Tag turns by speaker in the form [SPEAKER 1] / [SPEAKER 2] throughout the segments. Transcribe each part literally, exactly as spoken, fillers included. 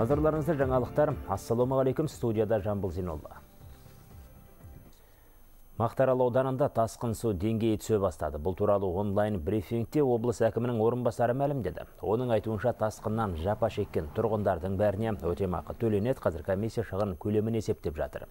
[SPEAKER 1] Назарларыңызда жаңалықтар. Ассалаумағалейкум, студияда Жамбыл Зинолла. Мақтаарал ауданында тасқын су деңгейі түсе бастады. Бұл туралы онлайн брифингте облыс әкімінің орынбасары мәлімдеді. Оның айтуынша тасқыннан жапа шеккен тұрғындардың бәріне өтемақы төленеді. Қазір комиссия шығын көлемін есептеп жатыр.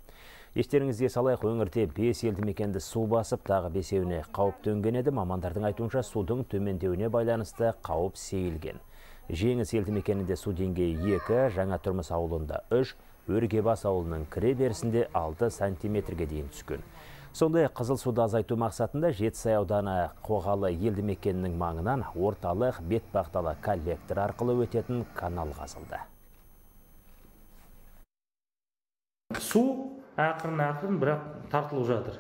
[SPEAKER 1] Естеріңізге салайық, өңірде бес елді мекенді су басып, тағы бесеуіне қауіп төнген еді. Мамандардың айтуынша судың төмендеуіне байланысты қауіп сейілген. Жеңіс елді мекенінде су деңгейі екі, Жаңа Тұрмыс ауылында үш, Өргебас ауылының кіре берісінде алты сантиметрге дейін түскен. Сондай қызыл суды азайту мақсатында Жетісай ауданы Қоғалы елді мекенінің маңынан орталық бетпақталы коллектор арқылы өтетін канал қазылды.
[SPEAKER 2] Су ақырын-ақырын бірақ тартылып жатыр.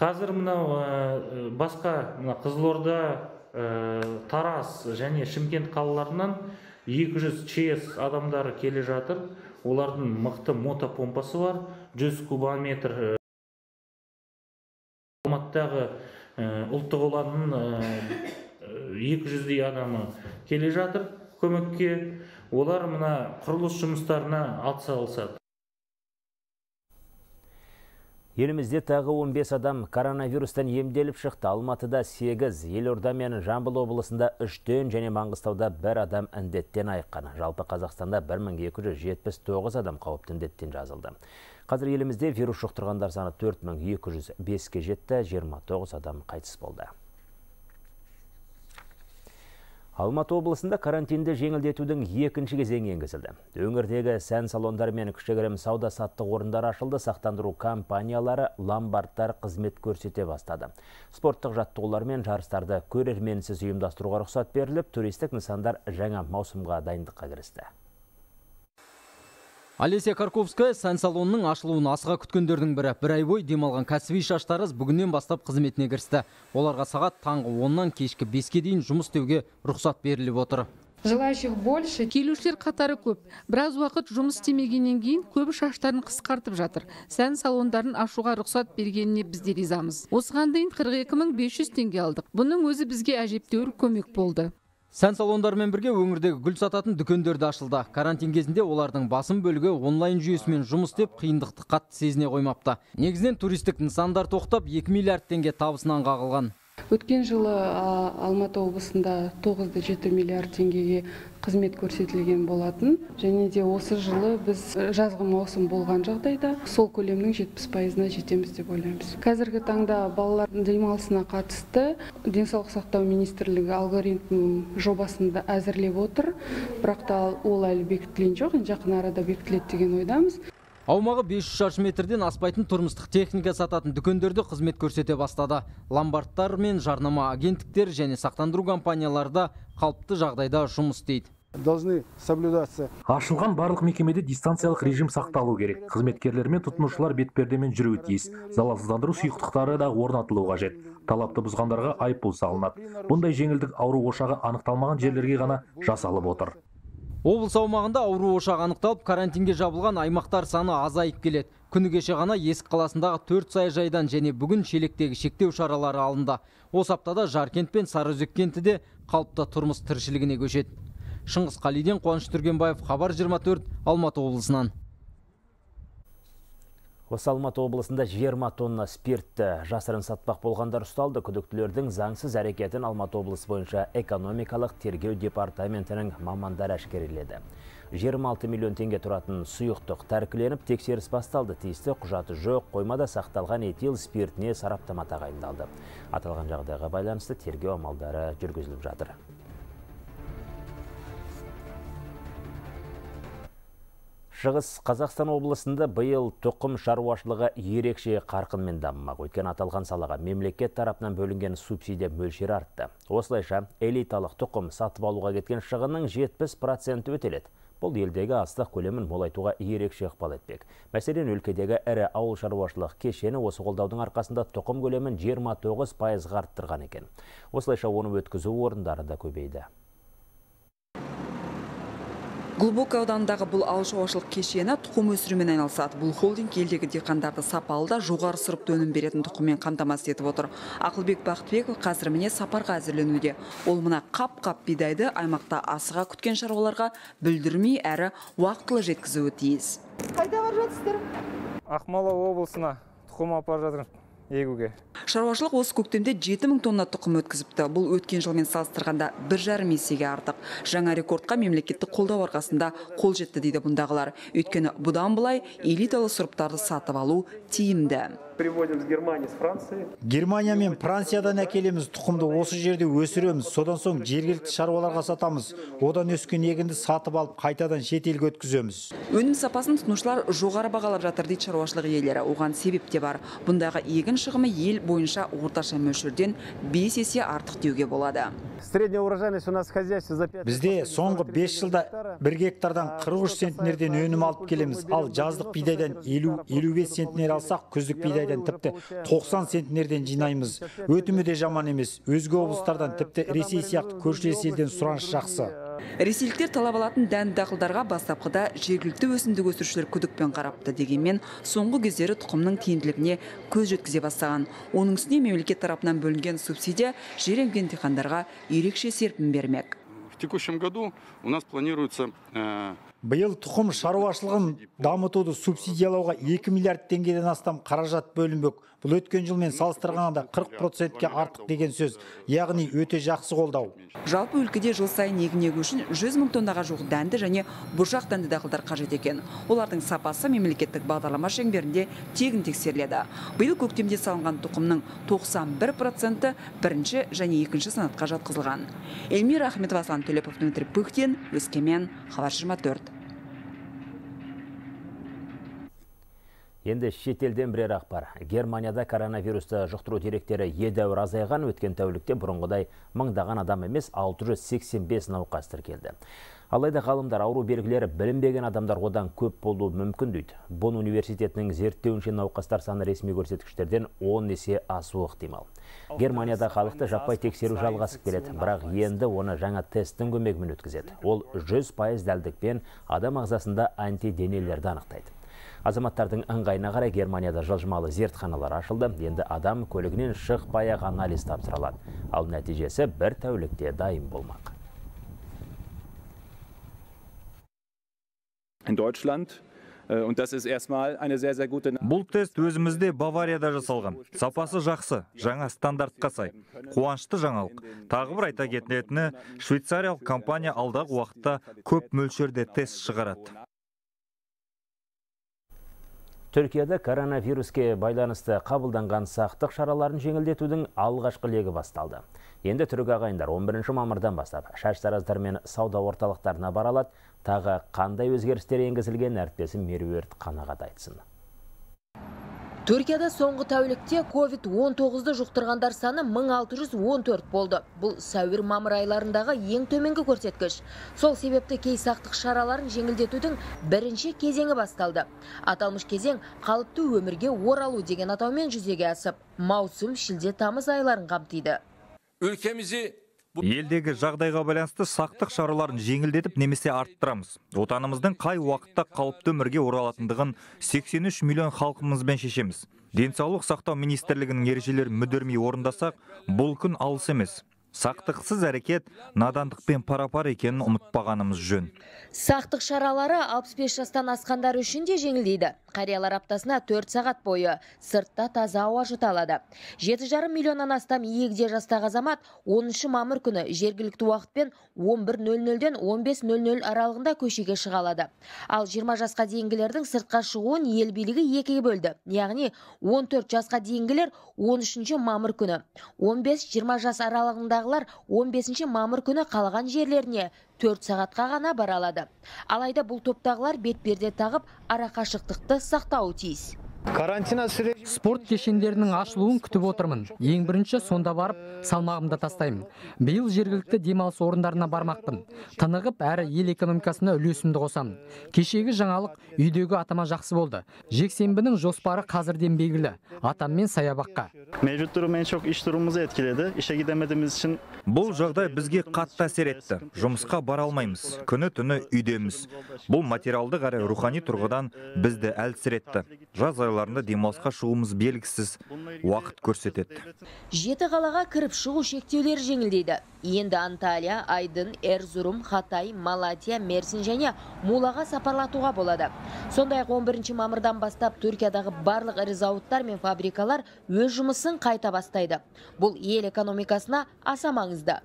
[SPEAKER 2] Қазір мынау басқа Қызылорда, Тараз және Шымкент қалаларынан екі жүз ЧС адамдары келе жатыр. Олардың мықты мотопомпасы бар, жүз кубометр. Алматыдағы ұлттық ұланның екі жүздей адамы келе жатыр көмекке. Олар мына құрылыс жұмыстарына атсалысады.
[SPEAKER 1] Елімізде тағы он бес адам коронавирустан емделіп шықты. Алматыда сегіз, Елорда мен Жамбыл облысында үштен және Маңғыстауда бір адам індеттен айыққан. Жалпы Қазақстанда бір мың екі жүз жетпіс тоғыз адам қауіпті індеттен жазылды. Қазір елімізде вирус жұқтырғандар саны төрт мың екі жүз беске жетті, жиырма тоғыз адам қайтыс болды. Алматы облысында карантинді жеңілдетудің екінші кезеңі енгізілді. Өңірдегі сән салондары мен кішігірім сауда-саттық орындар ашылды, сақтандыру компаниялары, ломбардтар қызмет көрсете бастады. Спорттық жаттығулар мен жарыстарды көрерменсіз ұйымдастыруға рұқсат беріліп, туристік нысандар жаңа маусымға дайындыққа кірісті.
[SPEAKER 3] Олеся Карковская сән салонының ашылуын асыға күткендердің бірі. Бір ай бой демалған кәсіби шаштарыз бүгіннен бастап қызметіне кірісті. Оларға сағат таңғы оннан кешкі беске дейін жұмыс істеуге рұқсат беріліп отыр.
[SPEAKER 4] Желающих больше. Келушілер қатары көп. Біраз уақыт жұмыс істемегеннен кейін көбі шаштарын қысқартып жатыр. Сән салондарын ашуға рұқсат бергеніне біз де ризамыз. Осыған дейін қырық екі мың бес жүз теңге алдық. Бұның өзі бізге әжептәуір көмек болды.
[SPEAKER 3] Сән салондарымен бірге өңірдегі гүл сататын дүкендерді ашылды. Карантин кезінде олардың басым бөлігі онлайн жүйесімен жұмыс істеп, қиындықты қатты сезіне қоймапты. Негізінен туристік нысандар тоқтап, екі миллиард теңге табысынан қағылған.
[SPEAKER 4] Өткен жылы Алматы облысында тоғыз да жеті миллиард теңгеге қызмет көрсетілген болатын. Және де осы жылы біз жазғы маусым болған жағдайда сол көлемнің жетпіс пайызына жетеміз деп ойлаймыз. Қазіргі таңда балалардың демалысына қатысты денсаулық сақтау министрлігі алгоритм жобасында әзірлеп отыр. Бірақ та ол әлі бекітілген жоқ, жақын арада бекітіледі деген ойдамыз.
[SPEAKER 3] Аумағы бес жүз шаршы метрден аспайтын тұрмыстық техника сататын дүкендерді қызмет көрсете бастады. Ломбардтар мен жарнама агенттіктер және сақтандыру компанияларда қалыпты жағдайда жұмыс істейді.
[SPEAKER 5] Должны соблюдаться.
[SPEAKER 6] Ашылған барлық мекемеде дистанциялық режим сақталу керек. Қызметкерлер мен тұтынушылар бетпердемен жүруі тиіс. Залалсыздандыру сұйықтықтары да орнатылуы қажет. Талапты бұзғандарға айыппұл салынады. Бұндай жеңілдік ауру ошағы анықталмаған жерлерге ғана жасалып отыр.
[SPEAKER 3] Облыс аумағында ауру ошағы анықталып, карантинге жабылған аймақтар саны азайып келеді. Күні кеше ғана Есік қаласындағы төрт саяжайдан және бүгін Шелектегі шектеу шаралары алынды. Осы аптада Жаркент пен Сарыөзек кенті де қалыпты тұрмыс тіршілігіне көшеді. Шыңғыс Қалиден, Қуаныш Түргенбаев, Хабар жиырма төрт, Алматы облысынан.
[SPEAKER 1] Осы Алматы облысында жиырма тонна спиртті жасырын сатпақ болғандар ұсталды. Күдіктілердің заңсыз әрекетін Алматы облысы бойынша экономикалық тергеу департаментінің мамандары әшкереледі. жиырма алты миллион теңге тұратын сұйықтық тәркіленіп, тексеріс басталды. Тиісті құжаты жоқ, қоймада сақталған этил спиртіне сараптама тағайындалды. Аталған жағдайға байланысты тергеу амалдары жүргізіліп жатыр. Шығыс Қазақстан облысында биыл тұқым шаруашылығы ерекше қарқынмен дамымақ. Өйткені аталған салаға мемлекет тарапынан бөлінген субсидия мөлшері артты. Осылайша элиталық тұқым сатып алуға кеткен шығынның жетпіс проценті өтеледі. Бұл елдегі астық көлемін молайтуға ерекше ықпал етпек. Мәселен, өлкедегі ірі ауыл шаруашылық кешені осы қолдаудың арқасында тұқым көлемін жиырма тоғыз пайызға арттырған екен. Осылайша оны өткізу орындары да көбейді.
[SPEAKER 7] Глубокое ауданындағы бұл ауыл шаруашылық кешені тұқым өсірумен айналысады. Бұл холдинг елдегі диқандарды сапалы да жоғары сұрыпты өнім беретін тұқыммен қамтамасыз етіп отыр. Ақылбек Бақтыбеков қазір міне сапарға әзірленуде. Ол мына қап-қап бидайды аймақта асыға күткен шаруаларға бүлдірмей әрі уақытылы жеткізуі тиіс.
[SPEAKER 8] Қайда бар жатсыздар? Ақмола облысына тұқым апарып жатырмыз егуге.
[SPEAKER 7] Шаруашылық осы көктемде жеті мың тонна тұқым өткізіпті. Бұл өткен жылмен салыстырғанда бір жарым есеге артық. Жаңа рекордқа мемлекеттік қолдау арқасында қол жетті дейді бұндағылар. Өйткені бұдан былай элиталы сұрыптарды сатып алу тиімді.
[SPEAKER 9] Приводим с Германии, с Франции.
[SPEAKER 10] Германия мен Франциядан әкелеміз, тұқымды осы жерде өсіреміз. Содан соң жергілікті шаруаларға сатамыз. Одан өскен егінді сатып алып, қайтадан шетелге өткіземіз.
[SPEAKER 7] Өнім сапасын тұтынушылар жоғары бағалап жатыр дейді шаруашылық иелері. Оған себеп те бар. Бұндағы егін шығымы ел бойынша орташа мөлшерден бес есе артық деуге болады.
[SPEAKER 5] Средняя урожайность у нас в хозяйстве за пять.
[SPEAKER 10] Бізде соңғы бес жылда бір гектардан қырық үш центнерден өнім алып келеміз. Ал жаздық бидайдан елу елу бес центнер алсақ, күздік бидайдан тіпті тоқсан центнерден жинаймыз. Өтімі де жаман емес. Өзге облыстардан тіпті Ресей сияқты көршілес елден сұраныс жақсы.
[SPEAKER 7] Ресейліктер талап алатын дәнді дақылдарға бастапқыда жергілікті өсімдік өсірушілер күдікпен қарапты, дегенмен соңғы кездері тұқымның тиімділігіне көз жеткізе бастаған. Оның үстіне мемлекет тарапынан бөлінген субсидия жер емген диқандарға ерекше серпін бермек.
[SPEAKER 11] В текущем году у нас планируется
[SPEAKER 10] Биыл тұқым шаруашылығын дамытуды субсидиялауға екі миллиард теңгеден астам қаражат бөлінбек. Бұл өткен жылмен салыстырғанда қырық процентке артық деген сөз, яғни өте жақсы қолдау.
[SPEAKER 7] Жалпы өлкеде жыл сайын егін егу үшін жүз мың тоннаға жуық дәнді және бұршақ дәнді дақылдар қажет екен. Олардың сапасы мемлекеттік бағдарлама шеңберінде тегін тексеріледі. Биыл көктемде салынған тұқымның тоқсан бір проценті бірінші және екінші санатқа жатқызылған. Эльмира Ахметова, Аслан Төлепов, Дмитрий Пыхтин, Өскемен, Хабар жиырма төрт.
[SPEAKER 1] Енді шетелден бірер ақпар. Германияда коронавирусты жұқтыру деректері едәуір азайған, өткен тәулікте бұрынғыдай мыңдаған адам емес алты жүз сексен бес науқас тіркелді. Алайда ғалымдар ауру белгілері білінбеген адамдар одан көп болуы мүмкін дейді. Бонн университетінің зерттеуінше науқастар саны ресми көрсеткіштерден он есе асуы ықтимал. Германияда халықты жаппай тексеру жалғасып келеді, бірақ енді оны жаңа тесттің көмегімен өткізеді. Ол жүз пайыз дәлдікпен адам ағзасында антиденелерді анықтайды. Азаматтардың ыңғайына қарай Германияда жылжымалы зертханалар ашылды. Енді адам көлігінен шықпай-ақ анализ тапсырылады. Ал нәтижесі бір тәулікте дайын болмақ.
[SPEAKER 12] In Deutschland und das ist erstmal eine sehr sehr gute.
[SPEAKER 13] Бұл тест өзімізде Баварияда жасалған. Сапасы жақсы, жаңа стандартқа сай. Қуанышты жаңалық. Тағы бір айта кететіні, швейцариялық компания алдағы уақытта көп мөлшерде тест шығарады.
[SPEAKER 1] Түркияда коронавируске байланысты қабылданған сақтық шараларын жеңілдетудің алғашқы легі басталды. Енді түрік ағайындар он бірінші мамырдан бастап шаштараздар мен сауда орталықтарына бара алады. Тағы қандай өзгерістер енгізілген, әріптесім Меруерт қанағат айтсын.
[SPEAKER 14] Түркияда соңғы тәулікте ковид он тоғызды жұқтырғандар саны мың алты жүз он төрт болды. Бұл сәуір-мамыр айларындағы ең төменгі көрсеткіш. Сол себепті кей сақтық шараларын жеңілдетудің бірінші кезеңі басталды. Аталмыш кезең қалыпты өмірге оралу деген атаумен жүзеге асып, маусым, шілде, тамыз айларын қамтиды.
[SPEAKER 13] Өлкемізі елдегі жағдайға байланысты сақтық шараларын жеңілдетіп немесе арттырамыз. Отанымыздың қай уақытта қалыпты өмірге оралатындығын сексен үш миллион халқымызбен шешеміз. Денсаулық сақтау министрлігінің ережелерін мүдірмей орындасақ, бұл күн алыс емес. Сақтықсыз әрекет надандықпен пара-пар екенін ұмытпағанымыз жөн.
[SPEAKER 14] Сақтық шаралары алпыс бес жастан асқандар үшін де жеңілдейді. Қариялар аптасына төрт сағат бойы сыртта таза ауа жұта алады. жеті жарым миллионнан астам егде жастағы азамат оныншы мамыр күні жергілікті уақытпен он бір нөл нөлден он бес нөл нөл аралығында көшеге шыға алады. Ал жиырма жасқа дейінгілердің сыртқа шығуын ел билігі екіге бөлді. Яғни он төрт жасқа дейінгілер он үшінші мамыр күні, он бес жиырма жас аралығындағылар он бесінші мамыр күні қалған жерлеріне төрт сағатқа ғана бара алады. Алайда бұл топтағылар бетперде тағып ара қашықтықты сақтауы тиіс.
[SPEAKER 5] Карантина сüreci
[SPEAKER 15] Спорт кешендерінің ашылуын күтіп отырмын. Ең бірінші сонда барып, салмағымды тастаймын. Биыл жергілікті демалыс орындарына бармақпын. Тынығып, әрі ел экономикасына үлесімді қосамын. Кешегі жаңалық үйдегі атама жақсы болды. Жексенбінің жоспары қазірден белгілі. Атаммен саябаққа.
[SPEAKER 16] Mevcut durum en çok iş durumumuzu etkiledi. İşe gidemediğimiz için
[SPEAKER 13] Бұл жағдай бізге қатты әсер етті. Жұмысқа бара алмаймыз. Күні-түні үйдеміз. Бұл материалдық әрі рухани тұрғыдан бізді әлсіретті. Жаз айларында демалысқа шығуымыз белгісіз, уақыт көрсетеді.
[SPEAKER 14] Жеті қалаға кіріп шығу шектеулері жеңілдейді. Енді Анталия, Айдын, Эрзурум, Хатай, Малатия, Мерсин және Мулаға сапарлатуға болады. Сондай-ақ он бірінші мамырдан бастап Түркиядағы барлық ірі зауыттар мен фабрикалар өз жұмысын қайта бастайды. Бұл ел экономикасына аса маңызды.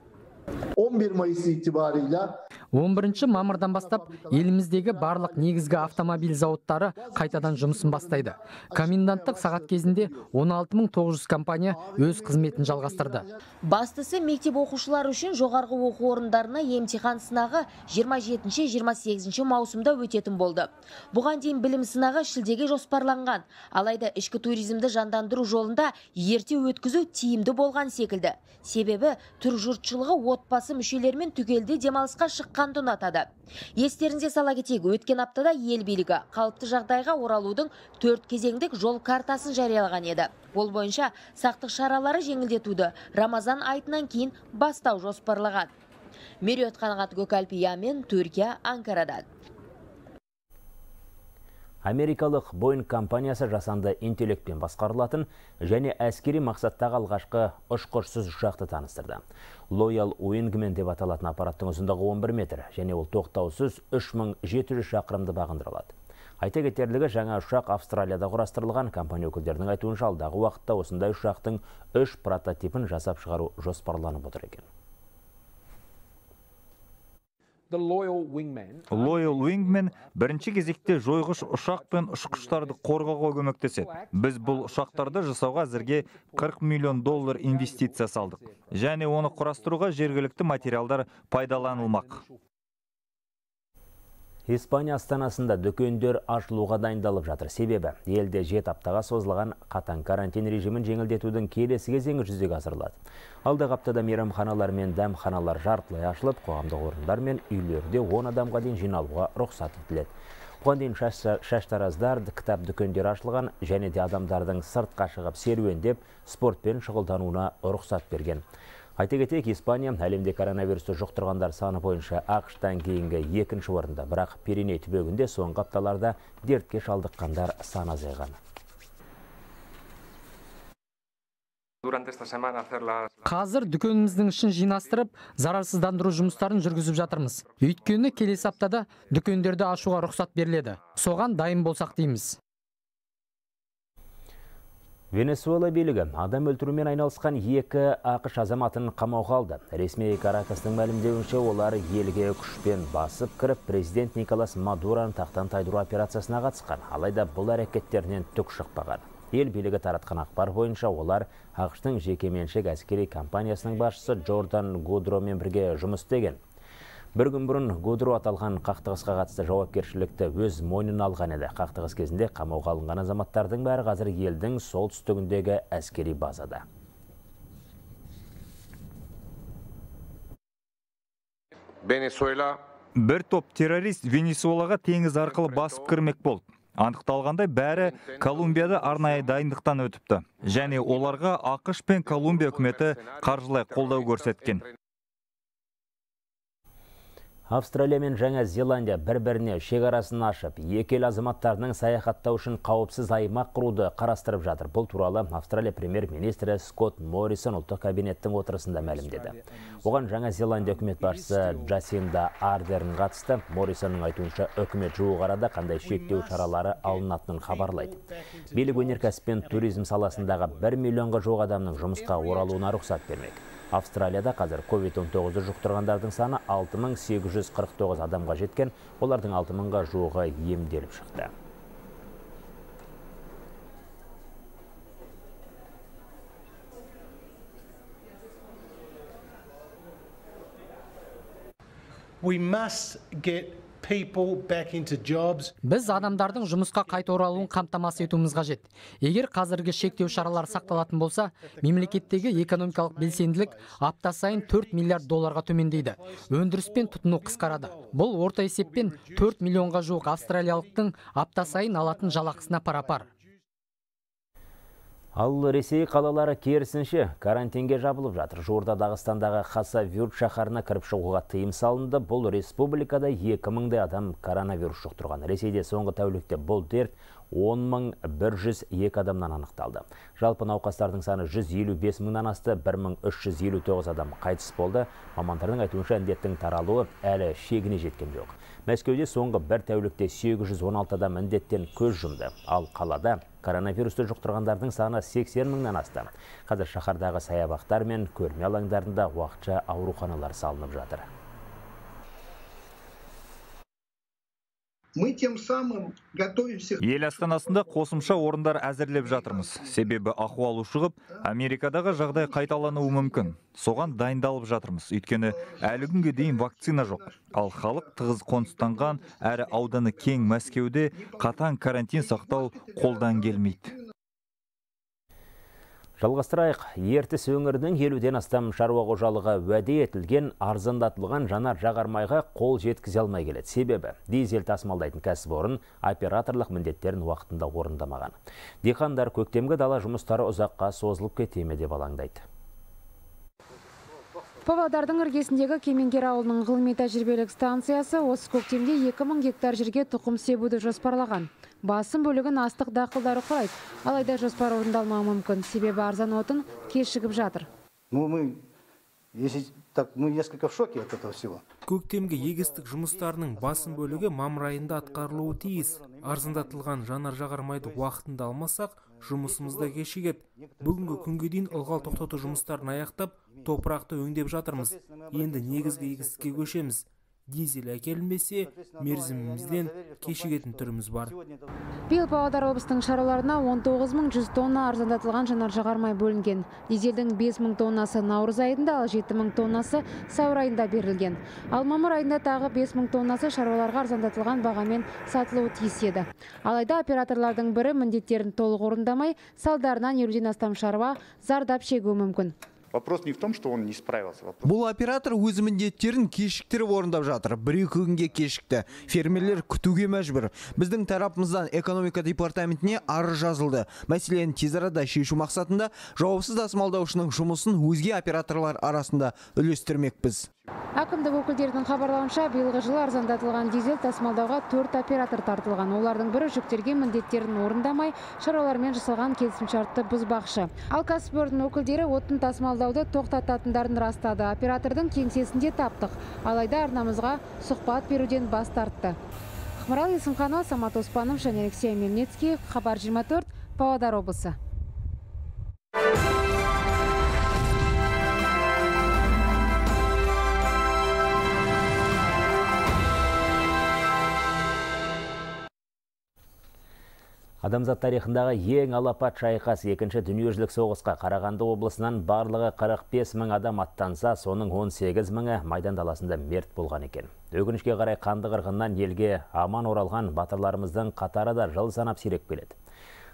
[SPEAKER 17] on bir Mayıs itibarıyla
[SPEAKER 15] он бірінші мамырдан бастап еліміздегі барлық негізгі автомобиль зауыттары қайтадан жұмысын бастайды. Коменданттық сағат кезінде он алты мың тоғыз жүз компания өз қызметін жалғастырды.
[SPEAKER 14] Бастысы мектеп оқушылары үшін жоғарғы оқу орындарына емтихан сынағы жиырма жетінші жиырма сегізінші маусымда өтетін болды. Бұған дейін білім сынағы шілдеге жоспарланған. Алайда ішкі туризмді жандандыру жолында ерте өткізу тиімді болған секілді. Себебі түр жұртшылығы отбасы мүшелерімен түгелді демалысқа шыққанды ұнатады. Естеріңізге сала кетейік, өткен аптада ел билігі қалыпты жағдайға оралудың төрт кезеңдік жол картасын жариялаған еді. Ол бойынша сақтық шаралары жеңілдетуді Рамазан айтынан кейін бастау жоспарлаған. Меруерт Қанағат Көкалпиямен, Түркия, Анкарадан.
[SPEAKER 1] Америкалық Boeing компаниясы жасанды интеллектпен басқарылатын және әскери мақсаттағы алғашқы ұшқышсыз ұшақты таныстырды. Loyal Wingman деп аталатын аппараттың ұзындығы он бір метр және ол тоқтаусыз үш мың жеті жүз шақырымды бағындырылады. Айта кетерлігі, жаңа ұшақ Австралияда құрастырылған. Компания өкілдерінің айтуынша алдағы уақытта осындай ұшақтың үш прототипін жасап шығару жоспарланып отыр екен.
[SPEAKER 13] Loyal Wingman бірінші кезекте жойғыш ұшақ пен ұшқыштарды қорғауға көмектеседі. Біз бұл ұшақтарды жасауға әзірге қырық миллион доллар инвестиция салдық. Және оны құрастыруға жергілікті материалдар пайдаланылмақ.
[SPEAKER 1] Испания астанасында дүкендер ашылуға дайындалып жатыр. Себебі елде жеті аптаға созылған қатаң карантин режимін жеңілдетудің келесі кезеңі жүзеге асырылады. Алдағы аптада мейрамханалар мен дәмханалар жартылай ашылып, қоғамдық орындар мен үйлерде он адамға дейін жиналуға рұқсат етіледі. Бұған дейін шаштараздар, кітап дүкендері ашылған және де адамдардың сыртқа шығып серуендеп, спортпен шұғылдануына рұқсат берген. Айта кетейік, Испания әлемде коронавирусты жұқтырғандар саны бойынша ақштан кейінгі екінші орында, бірақ Пиреней түбегінде соңғы апталарда дертке шалдыққандар саны азайған.
[SPEAKER 15] Қазір дүкеніміздің ішін жинастырып, зарарсыздандыру жұмыстарын жүргізіп жатырмыз. Өйткені келесі аптада дүкендерді ашуға рұқсат беріледі. Соған дайын болсақ дейміз.
[SPEAKER 1] Венесуэла билігі адам өлтірумен айналысқан екі ақш азаматын қамауға алды. Ресми Каракастың мәлімдеуінше олар елге күшпен басып кіріп, президент Николас Мадураны тақтан тайдыру операциясына қатысқан. Алайда бұл әрекеттерінен түк шықпаған. Ел билігі таратқан ақпар бойынша олар ақштың жекеменшік әскери компаниясының басшысы Джордан Гудромен бірге жұмыс істеген. Бір күн бұрын Гудро аталған қақтығысқа қатысты жауапкершілікті өз мойнына алған еді. Қақтығыс кезінде қамауға алынған азаматтардың бәрі қазір елдің солтүстігіндегі әскери базада.
[SPEAKER 13] Бір топ террорист Венесуэлаға теңіз арқылы басып кірмек болды. Анықталғандай бәрі Колумбияда арнайы дайындықтан өтіпті. Және оларға ақш пен Колумбия үкіметі қаржылай қолдау көрсеткен.
[SPEAKER 1] Австралия мен Жаңа Зеландия бір-біріне шекарасын ашып, екі ел азаматтарының саяхаттау үшін қауіпсіз аймақ құруды қарастырып жатыр. Бұл туралы Австралия премьер-министрі Скотт Моррисон ұлттық кабинеттің отырысында мәлімдеді. Оған Жаңа Зеландия үкімет басшысы Джасинда Ардерн қатысты. Моррисонның айтуынша үкімет жуық арада қандай шектеу шаралары алынатынын хабарлайды. Билік өнеркәсіп пен туризм саласындағы бір миллионға жуық адамның жұмысқа оралуына рұқсат бермек. Австралияда қазір ковид он тоғыз жұқтырғандардың саны алты мың сегіз жүз қырық тоғыз адамға жеткен, олардың алты мыңға жуығы емделіп шықты.
[SPEAKER 15] Біз адамдардың жұмысқа қайта оралуын қамтамасыз етуіміз қажет. Егер қазіргі шектеу шаралары сақталатын болса, мемлекеттегі экономикалық белсенділік апта сайын төрт миллиард долларға төмендейді. Өндіріс пен тұтыну қысқарады. Бұл орта есеппен төрт миллионға жуық австралиялықтың апта сайын алатын жалақысына пара-пар.
[SPEAKER 1] Ал Ресей қалалары керісінше карантинге жабылып жатыр. Жуырда Дағыстандағы Хасавюрт шаһарына кіріп шығуға тыйым салынды. Бұл республикада екі мыңдай адам коронавирус жұқтырған. Ресейде соңғы тәулікте бұл дерт он мың бір жүз екі адамнан анықталды. Жалпы науқастардың саны жүз елу бес мыңнан асты, бір мың үш жүз елу тоғыз адам қайтыс болды. Мамандардың айтуынша індеттің таралуы әлі шегіне жеткен жоқ. Мәскеуде соңғы бір тәулікте сегіз жүз он алты адам індеттен көз жұмды. Ал қалада коронавирусты жұқтырғандардың саны сексен мыңнан асты. Қазір шаһардағы саябақтар мен көрме алаңдарында уақытша ауруханалар салынып жатыр.
[SPEAKER 17] Мы тем самым готовимся.
[SPEAKER 13] Ел астанасында қосымша орындар әзірлеп жатырмыз. Себебі ахуал ушығып, Америкадағы жағдай қайталануы мүмкін. Соған дайындалып жатырмыз. Өйткені әлі күнге дейін вакцина жоқ. Ал халық тығыз қоныстанған, әрі ауданы кең Мәскеуде қатаң карантин сақтау қолдан келмейді.
[SPEAKER 1] Жалғастырайық, Ертіс өңірінің елуден астам шаруа қожалығы уәде етілген арзандатылған жанар жағармайға қол жеткізе алмай келеді. Себебі дизель тасымалдайтын кәсіпорын операторлық міндеттерін уақытында орындамаған. Диқандар көктемгі дала жұмыстары ұзаққа созылып кете ме деп алаңдайды.
[SPEAKER 18] Павлодардың іргесіндегі Кемеңгер ауылының ғылыми тәжірибелік станциясы осы көктемде екі мың гектар жерге тұқым себуді жоспарлаған. Басым бөлігін астық дақылдары құрайды. Алайда жоспар орындалмауы мүмкін, себебі арзан отын кешігіп жатыр.
[SPEAKER 19] Ну, мы, если так, мы несколько в шоке от этого всего.
[SPEAKER 20] Көктемгі егістік жұмыстарының басым бөлігі мамыр айында атқарылуы тиіс. Арзандатылған жанар жағармайды уақытында алмасақ, жұмысымызда кешігеді. Бүгінгі күнге дейін ылғал тоқтату жұмыстарын аяқтап, топырақты өңдеп жатырмыз. Енді негізгі егістікке көшеміз. Дизель әкелінбесе, мерзімімізден кешігетін түріміз бар.
[SPEAKER 18] Биыл Павлодар облысының шаруаларына он тоғыз мың жүз тонна арзандатылған жанар жағармай бөлінген. Дизельдің бес мың тоннасы наурыз айында, ал жеті мың тоннасы сәуір айында берілген. Ал мамыр айында тағы бес мың тоннасы шаруаларға арзандатылған бағамен сатылуы тиіс еді. Алайда операторлардың бірі міндеттерін толық орындамай, салдарынан елуден астам шаруа зардап шегуі мүмкін.
[SPEAKER 21] Вопрос не в том, что он не справился.
[SPEAKER 22] Бұл оператор өз міндеттерін кешіктіріп орындап жатыр. Бір-екі күнге кешікті. Фермерлер күтуге мәжбүр. Біздің тарапымыздан экономика департаментіне арыз жазылды. Мәселені тез арада шешу мақсатында жауапсыз тасымалдаушының жұмысын өзге операторлар арасында үлестірмекпіз.
[SPEAKER 18] Әкімдік өкілдерінің хабарлауынша, биылғы жылы арзандатылған дизель тасымалдауға төрт оператор тартылған. Олардың бірі жүктелген міндеттерін орындамай, шаруалармен жасалған келісімшартты бұзбақшы. Ал кәсіпорын өкілдері отын тасымалдауды тоқтататындарын растады. Оператордың кеңсесінде таптық. Алайда арнамызға сұхбат беруден бас тартты. Ақмарал Есімханова, Самат Оспанов және Алексей Мельницкий, Хабар жиырма төрт, Павлодар облысы.
[SPEAKER 1] Адамзат тарихындағы ең алапат шайқас екінші дүниежүзілік соғысқа Қарағанды облысынан барлығы қырық бес мың адам аттанса, соның он сегіз мыңы Майдан даласында мерт болған екен. Өкінішке қарай қанды қырғыннан елге аман оралған батырларымыздың қатары да жыл санап сиреп келеді.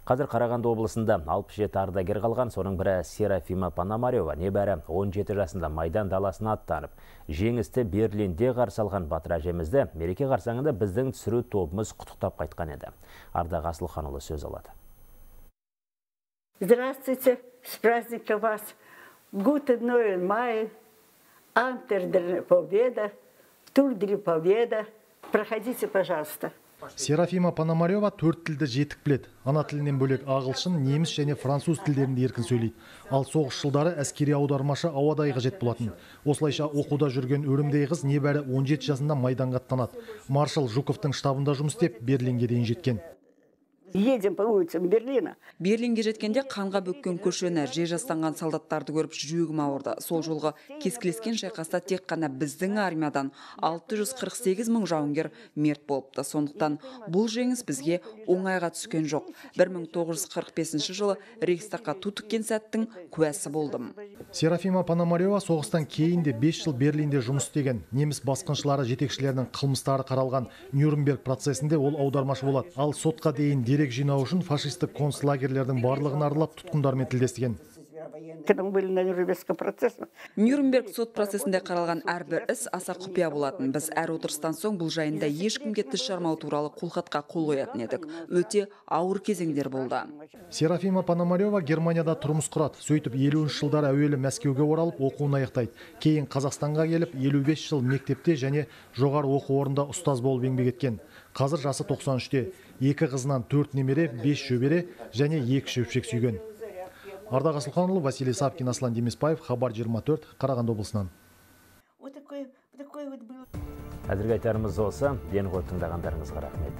[SPEAKER 1] Қазір Қарағанды облысында алпыс жеті ардагер қалған, соның бірі Серафима Пономарева небәрі он жеті жасында Майдан даласына аттанып, жеңісті Берлинде қарсы алған батыр әжемізді мереке қарсаңында біздің түсіру тобымыз құттықтап қайтқан еді. Ардақ Асылханұлы сөз алады.
[SPEAKER 23] Здравствуйте, с праздником вас. Guten neuen Mai, Антер der Победа, Тур der Победа. Проходите, пожалуйста.
[SPEAKER 24] Серафима Пономарева төрт тілді жетік біледі. Ана тілінен бөлек ағылшын, неміс және француз тілдерінде еркін сөйлейді. Ал соғыс жылдары әскери аудармашы ауадай қажет болатын. Осылайша оқуда жүрген өрімдей қыз небәрі он жеті жасында Майданға аттанады. Маршал Жуковтың штабында жұмыс істеп, Берлинге дейін жеткен.
[SPEAKER 23] Едем по улицам Берлина.
[SPEAKER 7] Берлинге жеткенде қанға бөккен көшені, же жастанған солдаттарды көріп жүрегім ауырды. Сол жолғы кескілескен шайқаста тек қана біздің армиядан алты жүз қырық сегіз мың жауынгер мерт болыпты. Сондықтан бұл жеңіс бізге оңайға түскен жоқ. бір мың тоғыз жүз қырық бесінші жылы Рейхстагқа ту тіккен сәттің куәсі болдым.
[SPEAKER 24] Серафима Пономарева соғыстан кейін де бес жыл Берлинде жұмыс істеген. Неміс басқыншылары жетекшілерінің қылмыстары қаралған Нюрнберг процесінде ол аудармашы болады. Ал сотқа дейін дерек жинау үшін фашистік концлагерлердің барлығын аралап тұтқындармен тілдескен.
[SPEAKER 23] Когда мы были на Нюрнбергском процессе.
[SPEAKER 7] Нюрнберг сот процесінде қаралған әрбір іс аса құпия болатын. Біз әр отырыстан соң бұл жайында ешкімге тіс жармау туралы қолхатқа қол қоятын едік. Өте ауыр кезеңдер болды.
[SPEAKER 24] Серафима Пономарева Германияда тұрмыс құрады. Сөйтіп елуінші жылдар әуелі Мәскеуге оралып оқуын аяқтайды. Кейін Қазақстанға келіп елу бес жыл мектепте және жоғары оқу орнында ұстаз болып еңбек еткен. Қазір жасы тоқсан үште. Екі қызынан төрт немере, бес шөбере және екі шөпшек сүйген. Ардақ Асылханұлы, Василий Сапкин, Аслан Демесбаев, Хабар жиырма төрт, Қарағанды облысынан.
[SPEAKER 1] Әзірге айтарымыз осы. Ден ғой тыңдағандарыңызға рахмет.